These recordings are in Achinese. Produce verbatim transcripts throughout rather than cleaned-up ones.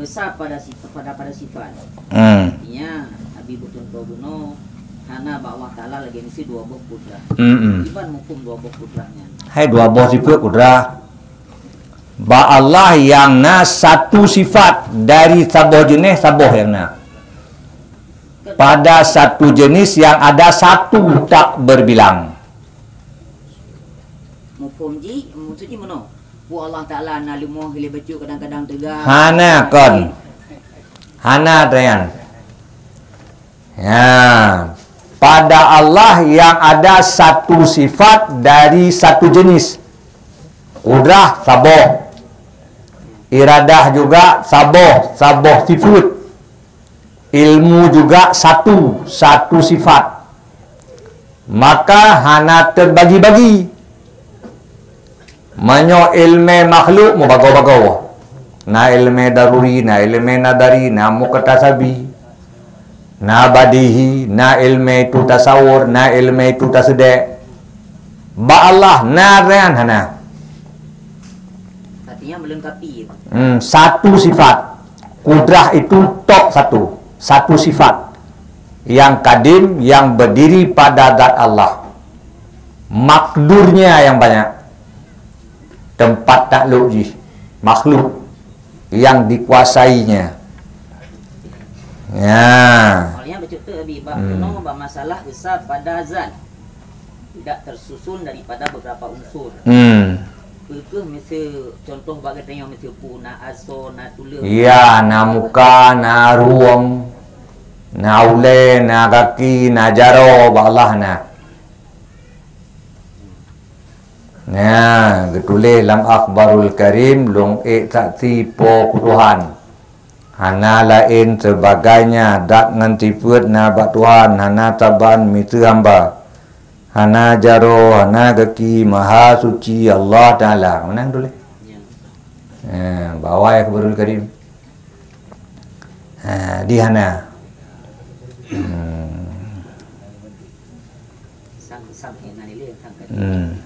Esa pada sif-, pada, pada sifat. Hmm. Artinya, Nabi beucuntoh bunoe, hana bak Allah Taala lagèe miseue dua boh kudrah. Hmm. Kiban muphom dua boh kudrah nyan? Hai dua boh sifat kudrah. Bak Allah nyang na satu sifat dari saboh jeunèh saboh nyang na. Pada satu jenis yang ada satu tak berbilang. Muphom jih, maksud jih meunoe. Peue Allah Taala na leumoh, lé bacut kadang-kadang teuga. Hana kon. Hana, Dayan. Ya. Pada Allah yang ada satu sifat dari satu jenis. Kudrah saboh. Iradah juga saboh, saboh sifat. Ilmu juga satu, satu sifat. Maka hana teubagi-bagi. Meunyoe ileumèe makhluk meubagoe-bagoe. Na ileumèe daruri, na ileumèe nadari, na muktasabi, na badihi, na ileumèe itu tasawur, na ileumèe itu taseudek. Bak Allah na nyan hana. Artinya melengkapi, ya, Pak? Hmm, satu sifat. Kudrah itu tok satu. Satu sifat. Yang kadim, yang berdiri pada zat Allah. Makdurnya yang banyak. Tempat takluk jih. Makhluk yang dikuasainya. Ya. Awalnya betul tu, Abi, bak Hmm. keunoe bak masalah esa pada zat. Tidak tersusun daripada beberapa unsur. Hmm. Peue kheueh miseue contoh bak geutanyoe miseue peue na asoe, na tuleueng. Ya, na muka, na rueng, na ulèe, na gaki, na jaroe bak Allah na. Nah, geutuléh lam Akhbarul Karim, lôn ék saksi Po Tuhan. Hana laén seubagaina, dat ngon sifeut na bak Tuhan, hana saban miseue hamba. Hana jaroe, hana gaki, maha suci Allah Taala. Meunan tuléh. Ya. Ha, bak awai Akhbarul Karim. Ha, di hana. Hmm. Sang, sang, eh, na nilai, sang, Hmm.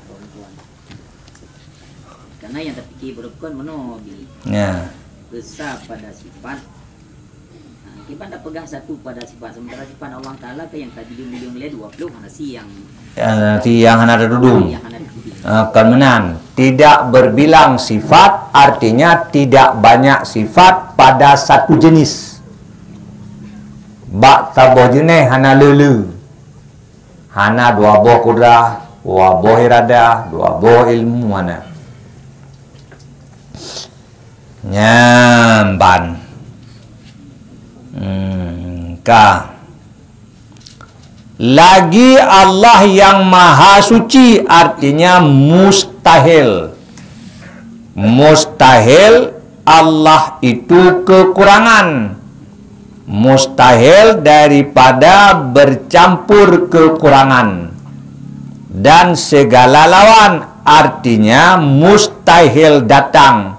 Karena yang terfikir berukon meunoe, Bi. Ya. Esa pada sifat. Ha, kiban tapeugah satu pada sifat, sementara sifat Allah Taala kan yang ka jidum-dum lé dua puluh, hana si yang Ya, si yang hana teududum. Yang hana teududum. Ah, kon meunan. Tidak berbilang sifat, artinya tidak banyak sifat pada satu jenis. Bak saboh jeunèh hana le-le. Hana dua boh kudrah, dua boh iradah, dua boh ilmu hana. Nyan ban. Hmm, ka. Lagi Allah yang Maha Suci, artinya mustahil. Mustahil Allah itu kekurangan. Mustahil daripada bercampur kekurangan. Dan segala lawan, artinya mustahil datang.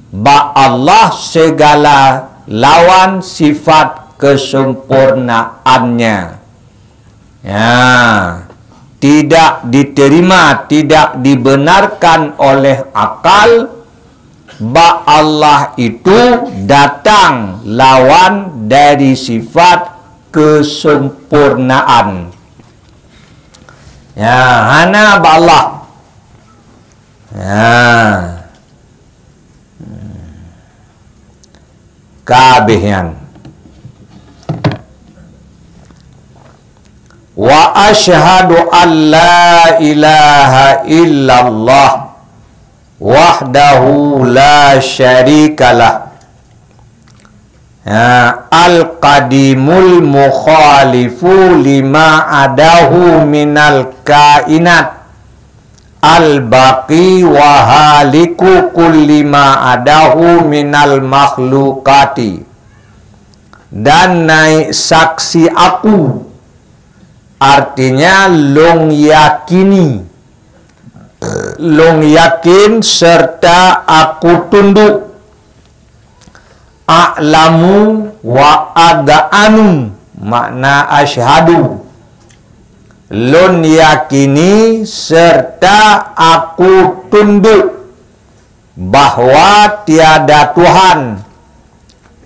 Bak Allah segala lawan sifat kesempurnaannya. Ya, tidak diterima, tidak dibenarkan oleh akal, bak Allah itu datang lawan dari sifat kesempurnaan. Ya, hana bak Allah. Ya. Ka abéh nyan. Wa asyhadu an la ilaha illallah wahdahu la syarikalah. Ha, al-qadimul mukhalifu lima adahu minal kainat. Al-baqi wa haliku kulli ma adahu minal makhlukati. Dan naik saksi aku, artinya lôn yakini, lôn yakin serta aku tunduk. A'lamu wa ag'anu, makna asyhadu. Lôn yakini serta aku tunduk bahwa tiada Tuhan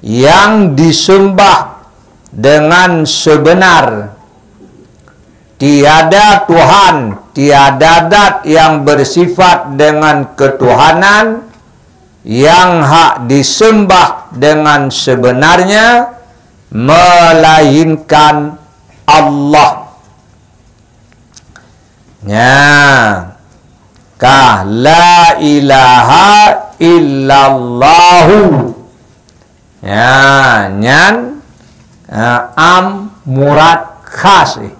yang disembah dengan sebenar. Tiada Tuhan, tiada zat yang bersifat dengan ketuhanan yang hak disembah dengan sebenarnya, melainkan Allah. Nya, ka la ilaha illallahu. Ya, nyan, eh, am murad khas, eh.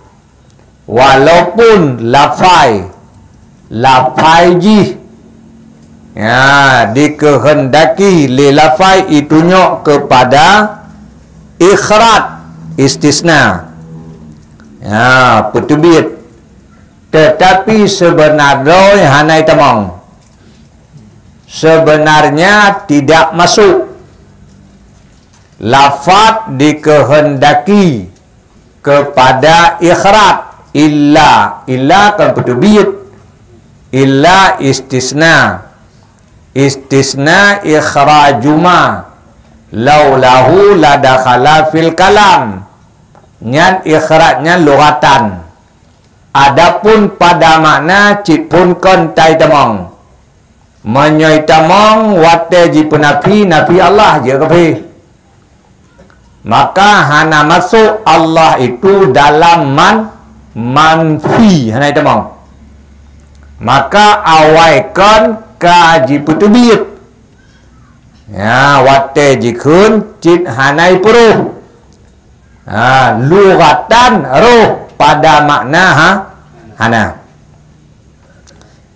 Walaupun lafai, lafai jih, ya, dikehendaki lé lafai itunyok kepada ikhraj, istisna. Ya, peuteubiet. Tetapi sebenarnya hana itamong. Sebenarnya tidak masuk. Lafaz dikehendaki kepada ikhraj, illa, illa kan peuteubiet, illa istisna, istisna ikhrajuma, laulahu ladakhala fil kalam, nyan ikhraj nyan lughatan. Adapun pada makna cit phon kon tai tamong. Meunyoe tamong watée jipeunafi, nafi Allah je kaphé. Maka hana masuk Allah itu dalam man, manfi, hana tamong. Maka awai kon ka jipeuteubiet. Ya, watée jikheun cit hana ipeuruh. Ha, lughatan roh pada makna ha, hana.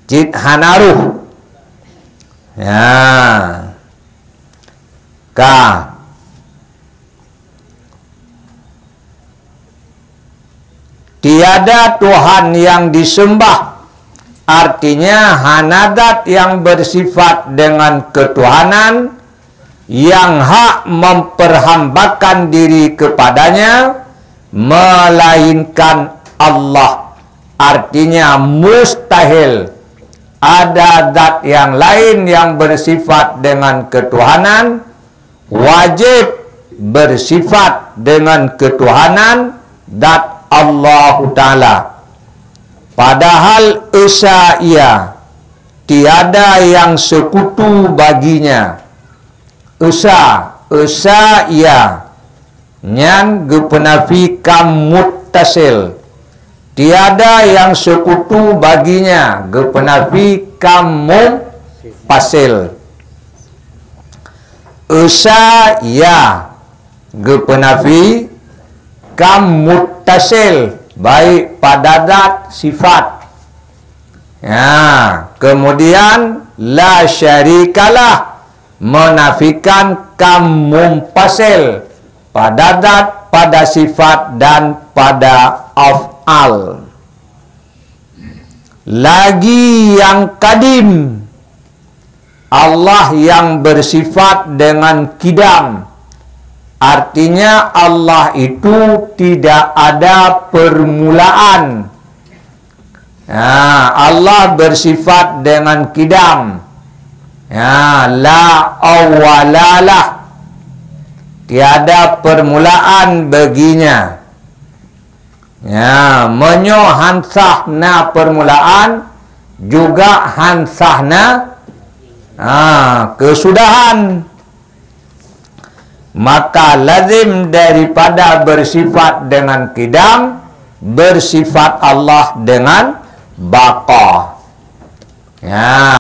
Cit hana roh. Ya. Ka. Tiada Tuhan yang disembah, artinya hana zat yang bersifat dengan ketuhanan yang hak memperhambakan diri kepadanya, melainkan Allah. Artinya mustahil ada zat yang lain yang bersifat dengan ketuhanan, wajib bersifat dengan ketuhanan zat Allahu Ta'ala. Padahal Esa Ia, tiada yang sekutu baginya. Esa, Esa Ia, nyan geupeunafi kam muttasil. Tiada yang sekutu baginya, geupeunafi kam munfasil. Esa Ia geupeunafi kam muttasil, baik pada zat sifat. Ya, kemudian la syarikalah menafikan kam munfasil pada zat, pada sifat dan pada af'al. Lagi yang kadim, Allah yang bersifat dengan kidam. Artinya Allah itu tidak ada permulaan. Ha, Allah bersifat dengan kidam. Ya, la awwalalah. Tiada permulaan baginya. Ya, meunyoe han sah na permulaan, juga han sah na, ha, kesudahan. Maka lazim daripada bersifat dengan kidam, bersifat Allah dengan baqa. Ya,